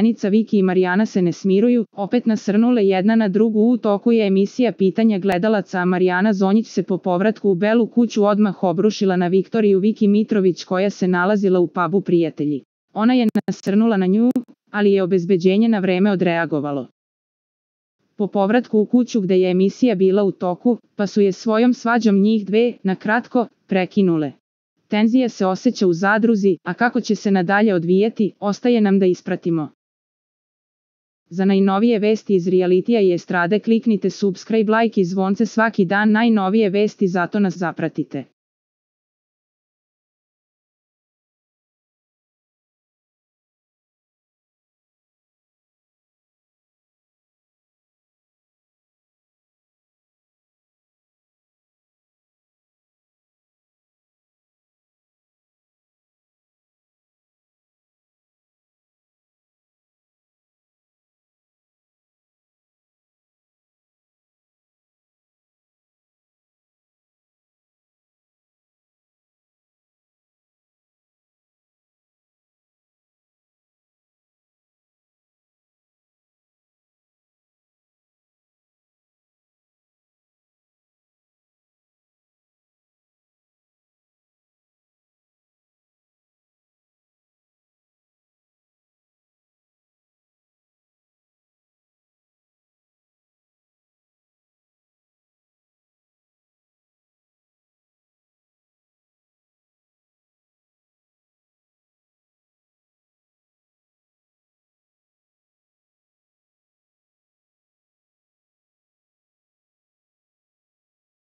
Zenica, Viki i Marijana se ne smiruju, opet nasrnule jedna na drugu. U toku je emisija pitanja gledalaca, a Marijana Zonjić se po povratku u Belu kuću odmah obrušila na Viktoriju Viki Mitrović, koja se nalazila u pubu Prijatelji. Ona je nasrnula na nju, ali je obezbeđenje na vreme odreagovalo. Po povratku u kuću gde je emisija bila u toku, pa su je svojom svađom njih dve, na kratko, prekinule. Tenzija se osjeća u zadruzi, a kako će se nadalje odvijeti, ostaje nam da ispratimo. Za najnovije vesti iz realitija i estrade kliknite subscribe, like i zvonce svaki dan. Najnovije vesti, zato nas zapratite.